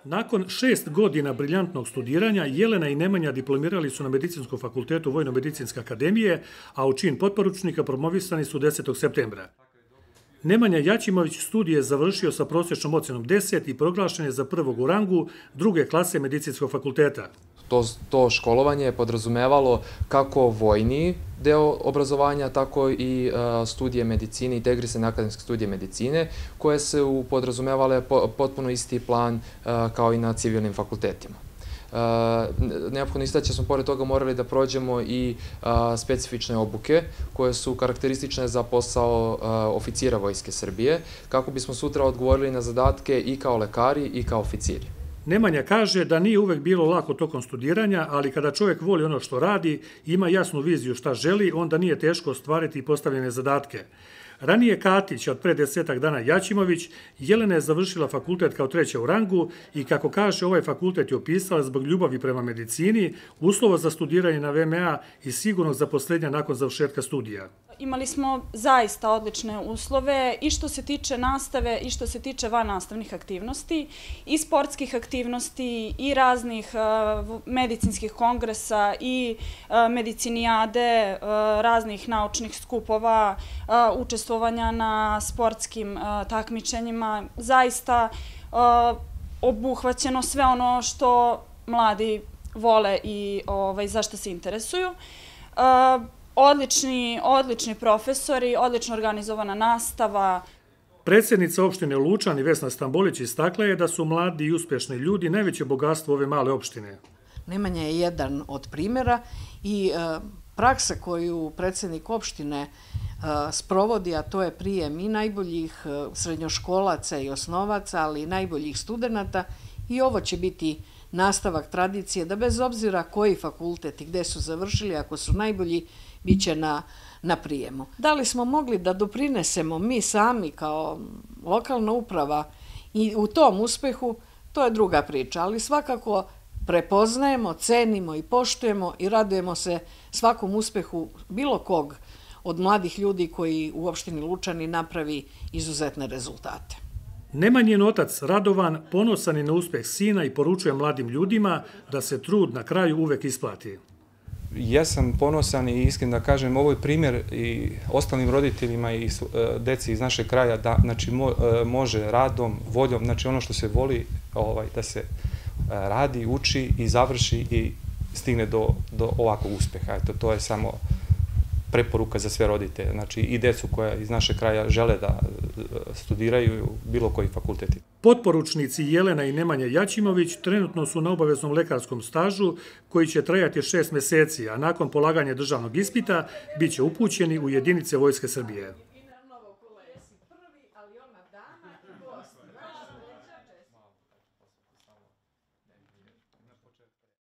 Nakon 6 godina briljantnog studiranja, Jelena i Nemanja diplomirali su na Medicinskom fakultetu Vojno-medicinske akademije, a u čin potporučnika promovisani su 10. septembra. Nemanja Jaćimović studije je završio sa prosječnom ocenom 10 i proglašen je za prvog u rangu druge klase Medicinskog fakulteta. To školovanje je podrazumevalo kako vojni deo obrazovanja, tako i studije medicine, integrisane akademske studije medicine, koje su podrazumevale potpuno isti plan kao i na civilnim fakultetima. Neophodno istaći smo pored toga morali da prođemo i specifične obuke koje su karakteristične za posao oficira Vojske Srbije, kako bismo sutra odgovorili na zadatke i kao lekari i kao oficiri. Nemanja kaže da nije uvek bilo lako tokom studiranja, ali kada čovjek voli ono što radi, ima jasnu viziju šta želi, onda nije teško ostvariti postavljene zadatke. Ranije Katić, od pre 10 dana Jaćimović, Jelena je završila fakultet kao treća u rangu i, kako kaže, ovaj fakultet je upisala zbog ljubavi prema medicini, uslova za studiranje na VMA i sigurnog zaposlenja nakon završetka studija. Imali smo zaista odlične uslove i što se tiče nastave i što se tiče vannastavnih aktivnosti, i sportskih aktivnosti, i raznih medicinskih kongresa, i medicinijade, raznih naučnih skupova, učestvovanja na sportskim takmičenjima. Zaista obuhvaćeno sve ono što mladi vole i za što se interesuju. Odlični profesori, odlično organizovana nastava. Predsjednica opštine Lučani Vesna Stambolić istakla je da su mladi i uspješni ljudi najveće bogatstvo ove male opštine. Nemanja je jedan od primjera i praksa koju predsjednik opštine sprovodi, a to je prijem i najboljih srednjoškolaca i osnovaca, ali i najboljih studenata, i ovo će biti nastavak tradicije da bez obzira koji fakultet i gde su završili, ako su najbolji, bit će na prijemu. Da li smo mogli da doprinesemo mi sami kao lokalna uprava i u tom uspehu, to je druga priča, ali svakako prepoznajemo, cenimo i poštujemo i radujemo se svakom uspehu bilo kog od mladih ljudi koji u opštini Lučani napravi izuzetne rezultate. Nemanjin otac Radovan ponosan je na uspeh sina i poručuje mladim ljudima da se trud na kraju uvek isplati. Ja sam ponosan i iskren da kažem, ovo je primjer i ostalim roditeljima i deci iz našeg kraja da može radom, voljom, znači ono što se voli da se radi, uči i završi i stigne do ovakvog uspeha. To je samo preporuka za sve roditelje, znači i decu koja iz našeg kraja žele da studiraju bilo koji fakulteti. Potporučnici Jelena i Nemanja Jaćimović trenutno su na obaveznom lekarskom stažu koji će trajati 6 meseci, a nakon polaganja državnog ispita bit će upućeni u jedinice Vojske Srbije.